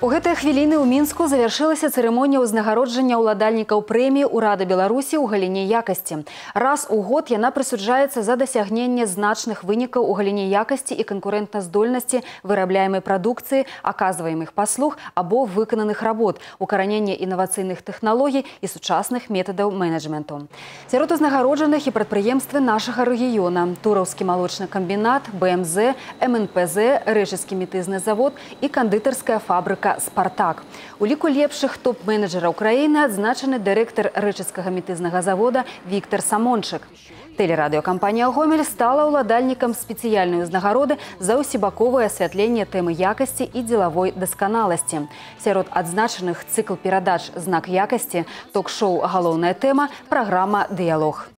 У гэтыя хвіліны ў Мінску завяршылася цырымонія ўзнагароджання ўладальнікаў прэміі «Урада Беларусі» ў галіне якасці. Раз у год яна прысуджаецца за дасягненне значных вынікаў у галіне якасці і канкурэнтназдольнасці вырабляемай прадукцыі, аказваемых паслуг або выкананых работ, укаранення інавацыйных тэхналогій і сучасных метадаў менеджменту. Сярод узнагароджаных і прадпрыемствы нашага рэгіёна: Тураўскі малочны камбінат, БМЗ, МНПЗ, Рэчыцкі метызны завод і кандытарская фабрыка «Спартак». У ліку лепшых топ-менеджераў краіны адзначаны дырэктар Рэчыцкага метызнага завода Віктор Самончык. Тэлерадыёкампанія «Гомель» стала ўладальнікам спецыяльнай узнагароды за ўсебаковае асвятленне тэмы якасці і дзелавой дасканаласці. Сярод адзначаных цыкл перадач «Знак якасці», ток-шоу «Галоўная тэма», праграма «Дыялог».